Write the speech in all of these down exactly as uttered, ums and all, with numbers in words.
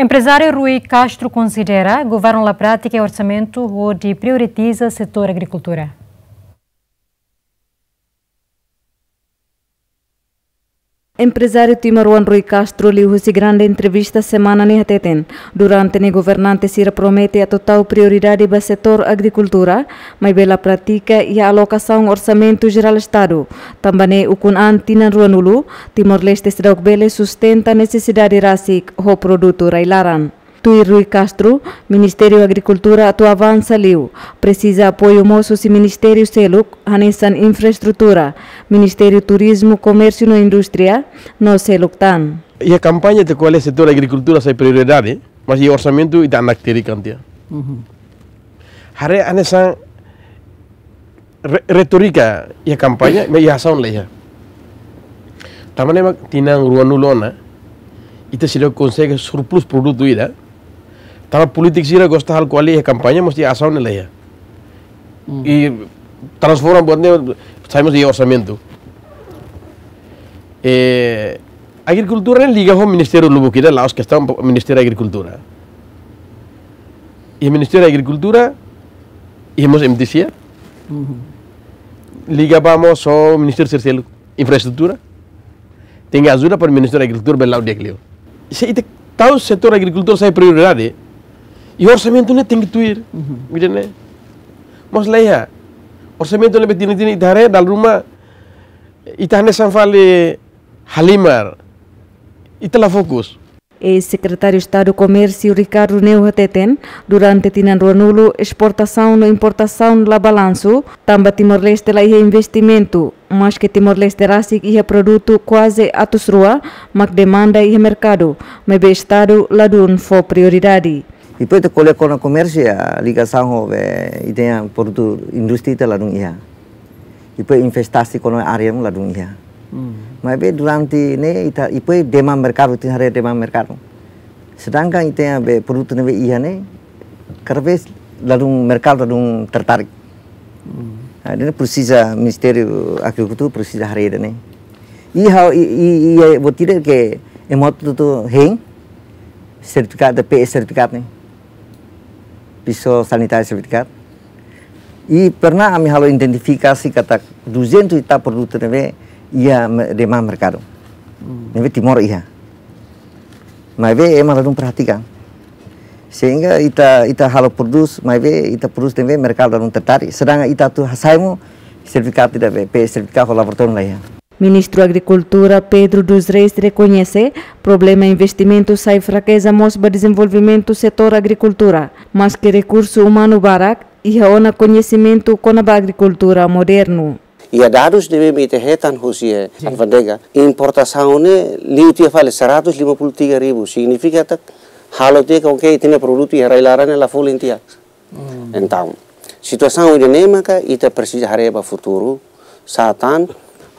Emprezáriu Rui Castro konsidera governu la pratika iha orsamentu hodi prioritiza setór agrikultura. Emprezáriu timoroan Rui Castro liuhusi grande entrevista semana ne'e hateten, durante ne'e governante sira promete atu tau prioridade ba setór agrikultura, maibé la pratika iha alokasaun orsamentu jerál Estadu. Tanba ne'e ukun an tinan ruanulu, Timor-Leste seidauk bele sustenta nesesidade rasik ho produtu rai-laran. Tuir Rui Castro, Ministériu Agrikultura atu avansa liu, presiza apoiu mós husi ministériu seluk, hanesan infraestrutura, Ministériu Turizmu, Komérsiu no Indústria, no seluk tan. Iha kampaña ita ko'alia setór agrikultura sai prioridade, mas iha orsamentu ita anak tiri kantia. Haree hanesan re-, retórika iha kampaña, maibé iha asaun la iha. Tanba ne'e mak tinan ruanulu ona, ita seidauk konsege surplus produtu ida. Tanba polítiku sira gosta halo ko'alia iha kampaña, mas iha asaun la iha. I transforma buat ne'e sai mós iha orsamentu. Eh, agrikultura ne'e liga ho ministériu lubuk ida, la'ós kestaun Ministériu Agrikultura. Iha Ministériu Agrikultura, iha mós M T C A. Liga ba mós ho ministériu sira seluk, infraestrutura. Tenke ajuda para Ministériu Agrikultura bele la'o di'ak liu. Se ita tau setór agrikultura sai prioridade, i orsamentu ne'e tenke tuir. Ida-ne'e. Mas la iha. Orsamentu ne'ebé tinan-tinan ita haree, dala ruma ita hanesan fali halimar. Ita la fokus. Eis-Sekretáriu Estadu Komérsiu Ricardo Neu hateten, durante tinan ruanulu, esportasaun no importasaun la balansu, tanba Timor-Leste la iha investimentu, maske Timor-Leste rasik iha produtu kuaze atus rua, mak demanda iha merkadu, maibé Estadu ladún fó prioridade. Depois ita ko'alia kona-ba komérsiu, iha ligasaun ho be ita-nia produtu indústria ita ladún iha. Depois investasi kona-ba área ladún iha. Maibé durante ne'e ita, depois demanda merkadu, ita haree demanda merkadu. Sedangkan ita-nia be produtu ne'ebé iha ne'e, kada vez ladún merkadu ladún tertarik. Ah, ida-ne'e presiza Ministériu Agrikultura presiza haree ida-ne'e. I ha'u, i, i, i, buat ida ke ema hotu-hotu hein, sertifikadu, P S sertifikadu ne'e. Piso sanitáriu sertifikadu. I pernah ami halo identifikasi katak duzentus ita produtu ne'ebé iha me-, demanda merkadu. Ne'ebé Timor iha. Maibé ema ladún perhatikan. Sehingga ita, ita halo prodús, maibé ita prodús ne'ebé merkadu ladún tertarik. Sedangkan ita atu hasai mós sertifikadu ida be, P S sertifikadu ho laboratóriu la iha. Ministru Agrikultura Pedro dos Reis rekoñese problema investimentu sai frakeza mós ba dezenvolvimentu setór agrikultura, maske rekursu umanu barak, iha ona koñesimentu kona-ba agrikultura modernu. Iha dadus ne'ebé ita hetan husi, eh, alfándega, importasaun ne'e liu tiha fali seratus lima puluh tiga ribu, signifika katak halo tiha katak ita-nia produtu iha rai-laran ne'e la folin tiha. Entaun, situasaun ida-ne'e maka ita presiza haree ba futuru, sá tan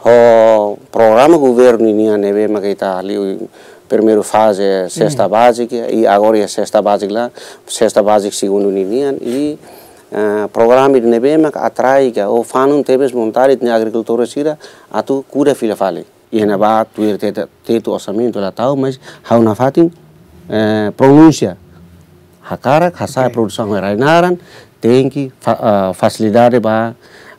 ho programa governu nian ne'ebé maka ita liu primeiru faze sesta bázika, i agora iha sesta bázika la, sesta bázika segundu ninian, i, eh, programa ida ne'ebé maka atrai ka, ou fanun tebes vontade ita-nia agrikultór sira atu kuda fila fali. Iha ne'ebá tuir tetu, tetu orsamentu la tau, mas ha'u nafatin, eh, pronúnsia. Hakarak, hasa'e produsaun rai-laran, tenke fa-, ah, fasilidade ba,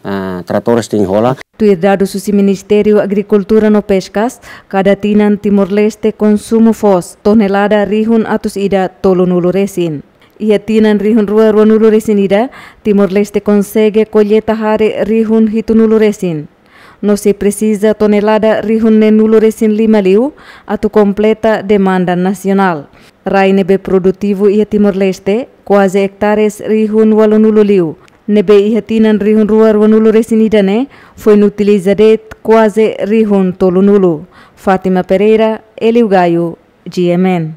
ah, tratores tenke hola. Tuir dadus husi Ministériu Agrikultura no Peskas, kada tinan Timor-Leste konsumu foos tonelada rihun atus ida tolunulu resin. Iha tinan rihun rua ruanulu resin ida, Timor-Leste konsege kolleita hare rihun hitunulu resin. No sei presiza tonelada rihun neenulu resin lima liu atu kompleta demanda nasionál. Rai ne'ebé produtivu iha Timor-Leste, kuaze ektares rihun ualunulu liu. Ne'ebé iha tinan rihun rua ruanulu resin ida ne'e, foin utiliza de'it kuaze rihun tolunulu. Fátima Pereira, Hélio Gaio, G M N.